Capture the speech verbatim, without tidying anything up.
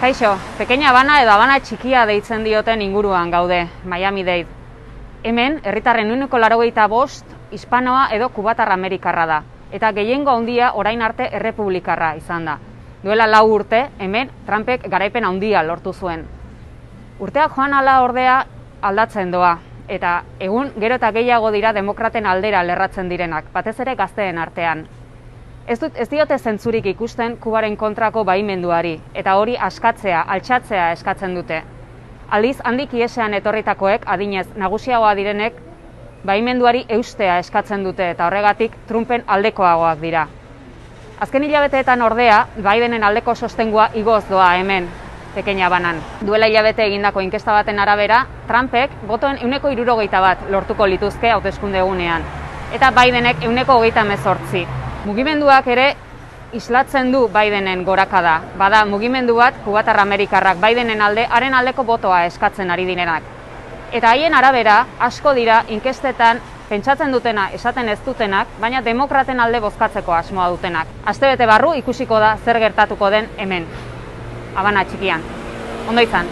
Kaixo, Pequeña Habana edo Habana txikia deitzen dioten inguruan gaude, Miami-Dade. Hemen, herritarren ehuneko laurogeita bost, hispanoa edo kubatar amerikarra da, eta gehiengo handia orain arte errepublikarra izan da. Duela lau urte, hemen Trumpek garaipen handia lortu zuen. Urteak joan ala ordea aldatzen doa, eta egun gero eta gehiago dira demokraten aldera lerratzen direnak, batez ere gazteen artean. Ez, dut, ez diote zentzurik ikusten Kubaren kontrako baimenduari, eta hori askatzea, altxatzea eskatzen dute. Aldiz, handik iesean etorritakoek, adinez nagusiagoa direnek, baimenduari eustea eskatzen dute, eta horregatik Trumpen aldekoagoak dira. Azken hilabeteetan ordea, Bidenen aldeko sostengua igoz doa hemen, Pequeña Habanan. Duela hilabete egindako inkesta baten arabera, Trumpek botoen ehuneko hirurogeita bat lortuko lituzke hauteskunde egunean, eta Bidenek ehuneko hogeita hemezortzi. Mugimenduak ere islatzen du Bidenen gorakada. Bada mugimendu bat kubatar amerikarrak Bidenen alde, haren aldeko botoa eskatzen ari direnak. Eta haien arabera, asko dira inkestetan pentsatzen dutena esaten ez dutenak, baina demokraten alde bozkatzeko asmoa dutenak. Astebete barru ikusiko da zer gertatuko den hemen, Habana txikian. Ondo izan.